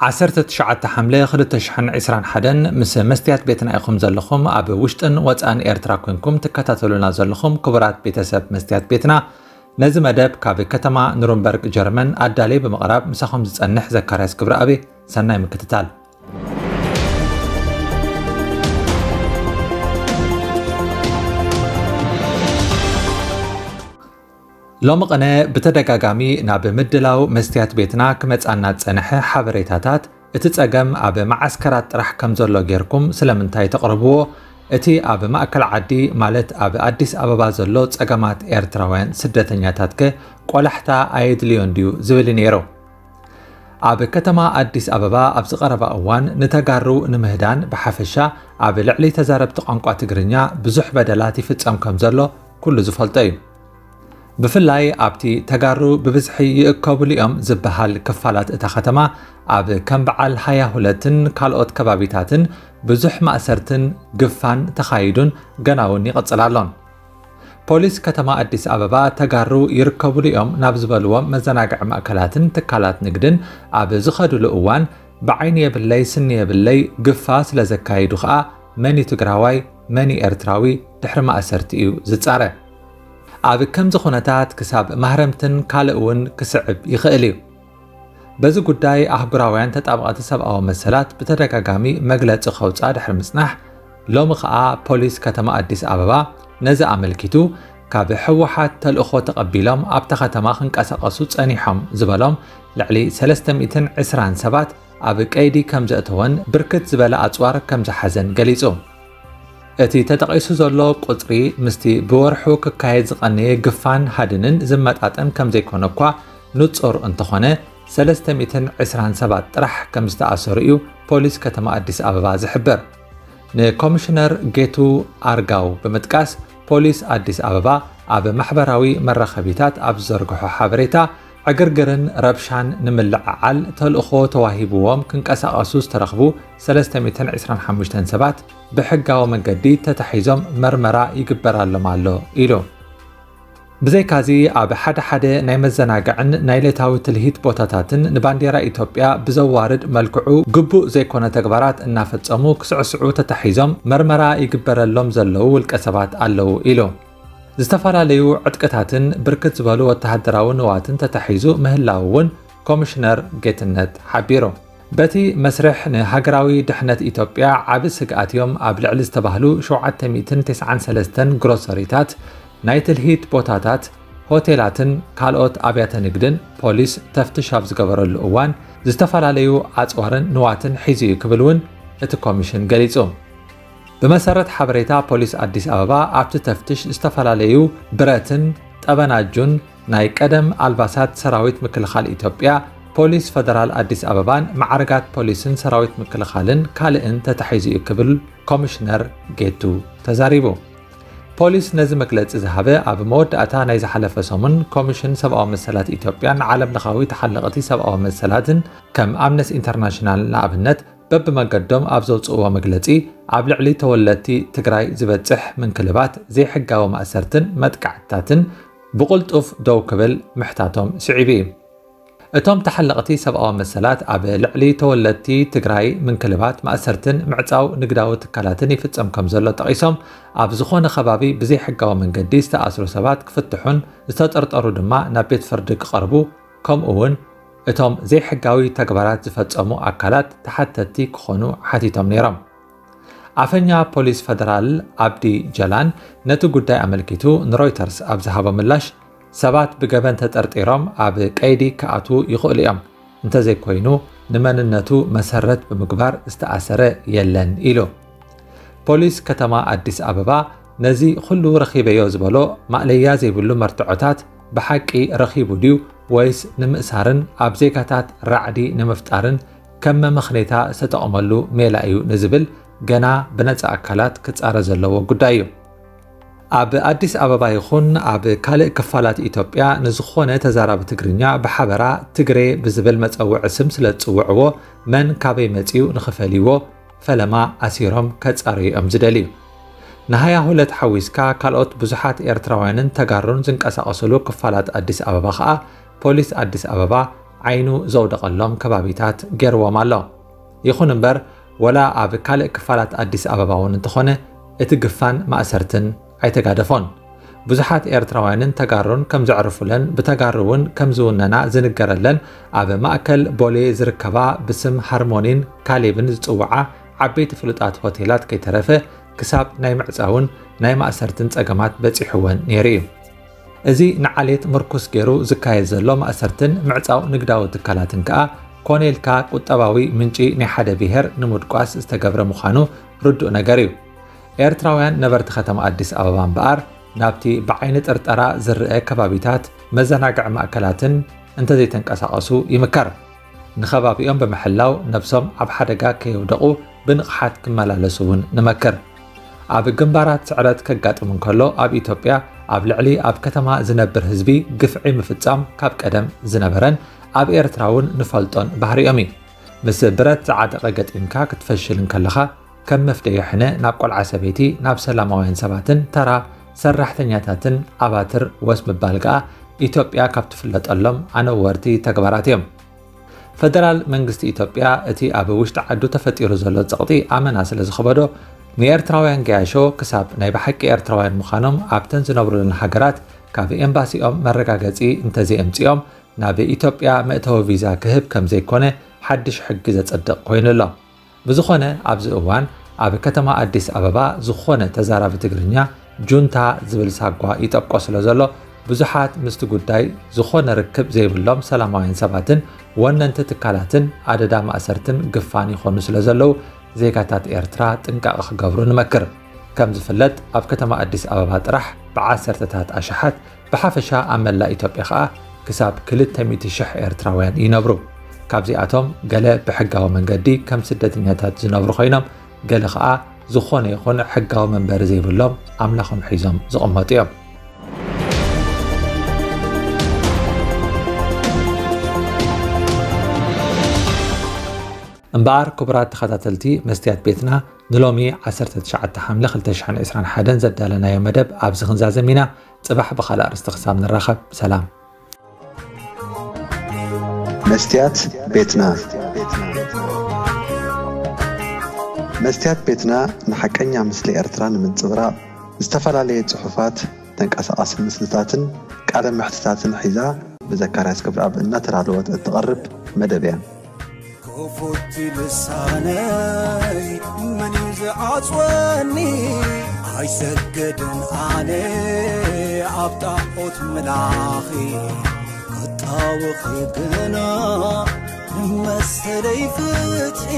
ዓሰርተ ትሽዓተ ሓምለ ክልተ ሽሕን ዕስራን ሓደን ምስ መስትያት ቤትና ኢኹም ዘለኹም፣ ኣብ ውሽጥን ወጻእን ኤርትራ ኮንኩም ትከታተሉና ዘለኹም ክቡራት ቤተሰብ መስትያት ቤትና፣ ነዚ መደብ ካብ ከተማ ኑርንበርግ ጀርመን ኣዳልየ ብምቕራብ ምሳኹም ዝጸንሕ ዘካርያስ ክብረኣብ። ሰናይ ምክትታል። ሎሚ ቅነ ብተደጋጋሚ ናብ ምድላው መስትያት ቤትና ክመጻና ዝጸንሐ ሓበሬታታት፣ እቲ ጸገም ኣብ መዓስከራት ጥራሕ ከም ዘሎ ጌርኩም ስለምንታይ ተቕርብዎ? እቲ ኣብ ማእከል ዓዲ፣ ማለት ኣብ ኣዲስ ኣበባ ዘሎ ጸገማት ኤርትራውያን ስደተኛታትከ ቆላሕታ ኣየድልዮን ድዩ? ዝብል እዩ ነይሩ። ኣብ ከተማ ኣዲስ ኣበባ ኣብዚ ቀረባ እዋን ንተጋሩ ንምህዳን ብሓፈሻ ኣብ ልዕሊ ተዛረብቲ ቋንቋ ትግርኛ ብዙሕ በደላት ይፍጸም ከም ዘሎ ኩሉ ዝፈልጦ እዩ። ብፍላይ ኣብቲ ተጋሩ ብብዝሒ ይእከብሉ እዮም ዝበሃል ክፋላት እታ ከተማ፣ ኣብ ከም በዓል ሃያ ሁለትን ካልኦት ከባቢታትን ብዙሕ ማእሰርትን ግፋን ተኻይዱን ገና እውን ይቕጽል ኣሎን። ፖሊስ ከተማ ኣዲስ ኣበባ ተጋሩ ይርከብሉ እዮም ናብ ዝበልዎም መዘናግዒ ማእከላትን ትካላት ንግድን ኣብ ዝኸድሉ እዋን፣ ብዓይኒ የብለይ ስኒ የብለይ ግፋ ስለ ዘካይዱ ኸኣ መን እዩ ትግራዋይ፣ መን እዩ ኤርትራዊ ድሕሪ ማእሰርቲ እዩ ዝጻረ። ኣብ ከምዚ ኩነታት ክሳብ ማህረምትን ካልእ እውን ክስዕብ ይኽእል እዩ። በዚ ጉዳይ ኣህጉራውያን ተጣበቕቲ ሰብኣዊ መሰላት ብተደጋጋሚ መግለጺ ከውጽኣ ድሕሪ ምጽናሕ፣ ሎሚ ኸኣ ፖሊስ ከተማ ኣዲስ ኣበባ ነዚ ኣመልኪቱ ካብ ህወሓት ተልእኾ ተቐቢሎም ኣብታ ከተማ ክንቀሳቐሱ ጸኒሖም ዝበሎም ልዕሊ ሰለስተ ሚእትን ዕስራን ሰባት ኣብ ቀይዲ ከም ዘእተወን ብርክት ዝበለ ኣጽዋር ከም ዝሓዘን ገሊጹ። እቲ ተጠቒሱ ዘሎ ቁጽሪ ምስቲ ብወርሑ ክካየድ ዝቐነየ ግፋን ሃድንን ዝመጣጠን ከም ዘይኮነ እኳ ንጹር እንተኾነ፣ ሰለስተ ሚእትን ዕስራን ሰባት ጥራሕ ከም ዝተኣሰሩ እዩ ፖሊስ ከተማ ኣዲስ ኣበባ ዝሕብር። ንኮሚሽነር ጌቱ ኣርጋው ብምጥቃስ፣ ፖሊስ ኣዲስ ኣበባ ኣብ ማሕበራዊ መራኸቢታት ኣብ ዝዘርግሖ ሓበሬታ፣ ዕግርግርን ረብሻን ንምልዕዓል ተልእኾ ተዋሂብዎም ክንቀሳቐሱ ዝተረኽቡ ሰለስተ ሚእትን ዕስራን ሓሙሽተን ሰባት ብሕጋዊ መንገዲ ተታሒዞም መርመራ ይግበራሎም ኣሎ ኢሉ። ብዘይካዚ፣ ኣብ ሓደ ሓደ ናይ መዘናግዕን ናይ ዕለታዊ ትልሂት ቦታታትን ንባንዴራ ኢትዮጵያ ብዘዋርድ መልክዑ ግቡእ ዘይኮነ ተግባራት እናፈጸሙ ክስዕስዑ ተታሒዞም መርመራ ይግበረሎም ዘለዉ ውልቀ ሰባት ኣለዉ ኢሉ። ዝተፈላለዩ ዕጥቅታትን ብርክት ዝበሉ ወተሃደራዊ ንዋትን ተታሒዙ ምህላዉ እውን ኮሚሽነር ጌትነት ሓቢሩ። በቲ መስርሕ ንሃገራዊ ድሕነት ኢትዮጵያ ዓቢ ስግኣት እዮም ኣብ ልዕሊ ዝተባህሉ ሸውዓተ ሚእትን ተስዓን ሰለስተን ግሮሰሪታት፣ ናይ ትልሂት ቦታታት፣ ሆቴላትን ካልኦት ኣብያተ ንግድን ፖሊስ ተፍትሽ ኣብ ዝገበረሉ እዋን፣ ዝተፈላለዩ ኣጽዋርን ንዋትን ሒዙ እዩ ክብል እውን እቲ ኮሚሽን ገሊጹ። ብመሰረት ሓበሬታ ፖሊስ ኣዲስ ኣበባ፣ ኣብቲ ተፍትሽ ዝተፈላለዩ ብረትን ጠበናጁን ናይ ቀደም ኣልባሳት ሰራዊት ምክልኻል ኢትዮጵያ፣ ፖሊስ ፈደራል ኣዲስ ኣበባን ማዕርጋት ፖሊስን ሰራዊት ምክልኻልን ካልእን ተታሒዙ እዩ ክብል ኮሚሽነር ጌቱ ተዛሪቡ። ፖሊስ ነዚ መግለጺ ዝሃበ ኣብ መወዳእታ ናይ ዝሓለፈ ሰሙን ኮሚሽን ሰብኣዊ መሰላት ኢትዮጵያን ዓለም ለኻዊ ተሓለቕቲ ሰብኣዊ መሰላትን ከም ኣምነስቲ ኢንተርናሽናል ንኣብነት በብመገዶም ኣብ ዘውፅእዎ መግለፂ፣ ኣብ ልዕሊ ተወለድቲ ትግራይ ዝበፅሕ ምንክልባት፣ ዘይሕጋዊ ማእሰርትን መጥቃዕትታትን ብቕልጡፍ ደው ክብል ምሕታቶም ስዒቡ እዩ። እቶም ተሓለቕቲ ሰብኣዊ መሰላት ኣብ ልዕሊ ተወለድቲ ትግራይ ምንክልባት፣ ማእሰርትን ምዕፃው ንግዳዊ ትካላትን ይፍፀም ከም ዘሎ ጠቒሶም፣ ኣብ ዝኾነ ከባቢ ብዘይሕጋዊ መንገዲ ዝተኣስሩ ሰባት ክፍትሑን ዝተጠርጠሩ ድማ ናብ ቤት ፍርዲ ክቐርቡ፣ ከምኡ እውን እቶም ዘይሕጋዊ ተግባራት ዝፈጸሙ ኣካላት ተሓተትቲ ክኾኑ ሓቲቶም ነይሮም። ኣፈኛ ፖሊስ ፈደራል ኣብዲ ጀላን ነቲ ጉዳይ ኣመልኪቱ ንሮይተርስ ኣብ ዝሃቦ ምላሽ፣ ሰባት ብገበን ተጠርጢሮም ኣብ ቀይዲ ክኣትዉ ይኽእሉ እዮም፣ እንተዘይኮይኑ ንመንነቱ መሰረት ብምግባር ዝተኣሰረ የለን ኢሉ። ፖሊስ ከተማ ኣዲስ ኣበባ ነዚ ኩሉ ረኺበዮ ዝበሎ ማእለያ ዘይብሉ መርትዖታት ብሓቂ ረኺቡ ድዩ ወይስ ንምእሳርን ኣብ ዜጋታት ራዕዲ ንምፍጣርን ከም መመኽነይታ ዝተጠቐመሉ ሜላ እዩ ንዝብል ገና ብነጻ ኣካላት ክጻረ ዘለዎ ጉዳይ እዩ። ኣብ ኣዲስ ኣበባ ይኹን ኣብ ካልእ ክፋላት ኢትዮጵያ ንዝኾነ ተዛራቢ ትግርኛ ብሓበራ ትግሬ ብዝብል መጸውዒ ስም ስለ ዝጽውዕዎ መን ካበይ መጺኡ ንኽፈልይዎ ፈለማ ኣሲሮም ከጻርዩ እዮም ዝደልዩ። ንሃያ ሁለት ሓዊስካ ካልኦት ብዙሓት ኤርትራውያንን ተጋሩን ዝንቀሳቐስሉ ክፋላት ኣዲስ ኣበባ ኸኣ ፖሊስ ኣዲስ ኣበባ ዓይኑ ዘውደቐሎም ከባቢታት ገይርዎም ኣሎ። ይኹን እምበር፣ ወላ ኣብ ካልእ ክፋላት ኣዲስ ኣበባ እውን እንተኾነ፣ እቲ ግፋን ማእሰርትን ኣይተጋደፎን። ብዙሓት ኤርትራውያንን ተጋሩን ከም ዘዕርፉለን ብተጋሩ እውን ከም ዝውነና ዝንገረለን ኣብ ማእከል ቦሌ ዝርከባ ብስም ሃርሞኒን ካሌብን ዝጽውዓ ዓበይቲ ፍሉጣት ሆቴላት ከይተረፈ ክሳብ ናይ ምዕጻውን ናይ ማእሰርትን ጸገማት በጺሕወን ነይሩ እዩ። እዚ ንዓሌት ምርኩስ ገይሩ ዝካየድ ዘሎ ማእሰርትን ምዕጻው ንግዳዊ ትካላትን ከኣ ኮነ ኢልካ ቁጠባዊ ምንጪ ናይ ሓደ ብሄር ንምድቋስ ዝተገብረ ምዃኑ ርዱእ ነገር እዩ። ኤርትራውያን ነበርቲ ከተማ ኣዲስ ኣበባ እምበኣር ናብቲ ብዓይኒ ጥርጠራ ዝረአ ከባቢታት መዘናግዒ ማእከላትን እንተዘይተንቀሳቐሱ ይምከር። ንኸባቢኦም ብምሕላው ነብሶም ኣብ ሓደጋ ከየውደቑ ብንቕሓት ክመላለሱ እውን ንመክር። ኣብ ግንባራት ስዕረት ከጋጥም እንከሎ ኣብ ኢትዮጵያ ኣብ ልዕሊ ኣብ ከተማ ዝነብር ህዝቢ ግፍዒ ምፍጻም ካብ ቀደም ዝነበረን ኣብ ኤርትራ እውን ንፈልጦን ባህሪኦም እዩ። ምስ ብረት ዝዓጠቐ ገጢምካ ክትፈሽል እንከለኻ ከም መፍደዮ ሕነ ናብ ቆልዓ ሰበይቲ ናብ ሰላማውያን ሰባትን ተራ ሰራሕተኛታትን ኣባትር ወስ ምባል ከኣ ኢትዮጵያ ካብ ትፍለጠሎም ኣነወርቲ ተግባራት እዮም። ፈደራል መንግስቲ ኢትዮጵያ እቲ ኣብ ውሽጢ ዓዱ ተፈጢሩ ዘሎ ጸቕጢ ኣመና ስለ ዝኸበዶ ንኤርትራውያን ገያሾ ክሳብ ናይ ብሓቂ ኤርትራውያን ምዃኖም ኣብተን ዝነብሩለን ሃገራት ካብ ኤምባሲኦም መረጋገጺ እንተዘይኣምጺኦም ናብ ኢትዮጵያ መእተዊ ቪዛ ክህብ ከም ዘይኮነ ሓድሽ ሕጊ ዘጸድቕ ኮይኑ ኣሎ። ብዝኾነ ኣብዚ እዋን ኣብ ከተማ ኣዲስ ኣበባ ዝኾነ ተዛራቢ ትግርኛ ጁንታ ዝብል ሳጓ ይጠብቆ ስለ ዘሎ ብዙሓት ምስቲ ጉዳይ ዝኾነ ርክብ ዘይብሎም ሰላማውያን ሰባትን ወነንቲ ትካላትን ኣደዳ ማእሰርትን ግፋን ይኾኑ ስለ ዘለዉ ዜጋታት ኤርትራ ጥንቃቐ ክገብሩ ንመክር። ከም ዝፍለጥ ኣብ ከተማ ኣዲስ ኣበባ ጥራሕ ብዓሰርተታት ኣሽሓት ብሓፈሻ ኣብ መላእ ኢትዮጵያ ከኣ ክሳብ ክልተ ሚእቲ ሽሕ ኤርትራውያን ይነብሩ። ካብዚኣቶም ገለ ብሕጋዊ መንገዲ ከም ስደተኛታት ዝነብሩ ኮይኖም ገለ ከኣ ዝኾነ ይኹን ሕጋዊ መንበሪ ዘይብሎም ኣምላኾም ሒዞም ዝቕመጡ እዮም። እምበኣር ክቡራት ተኸታተልቲ መስትያት ቤትና ንሎሚ ዓሰርተ ትሽዓተ ሓምለ ክልተ ሽሕን ዕስራን ሓደን ዘዳለናዮ መደብ ኣብዚ ክንዛዘም ኢና። ጽባሕ ብኻልእ ኣርእስቲ ክሳብ ንራኸብ ሰላም። መስትያት ቤትና። መስትያት ቤትና ንሓቀኛ ምስሊ ኤርትራ ንምንጽብራቕ ዝተፈላለየ ጽሑፋት፣ ተንቀሳቓሲ ምስልታትን ቃለ መሕትታትን ሒዛ ብዘካርያስ ገብረኣብ እናተዳለወት እትቐርብ መደብ እያ። ክፉት ልሳነይ መን እዩ ዝዓጽወኒ? ኣይሰግድን ኣነ ኣብ ጣዖት ምላኺ ክጣወኺ ግና መሰለይ ፍትሒ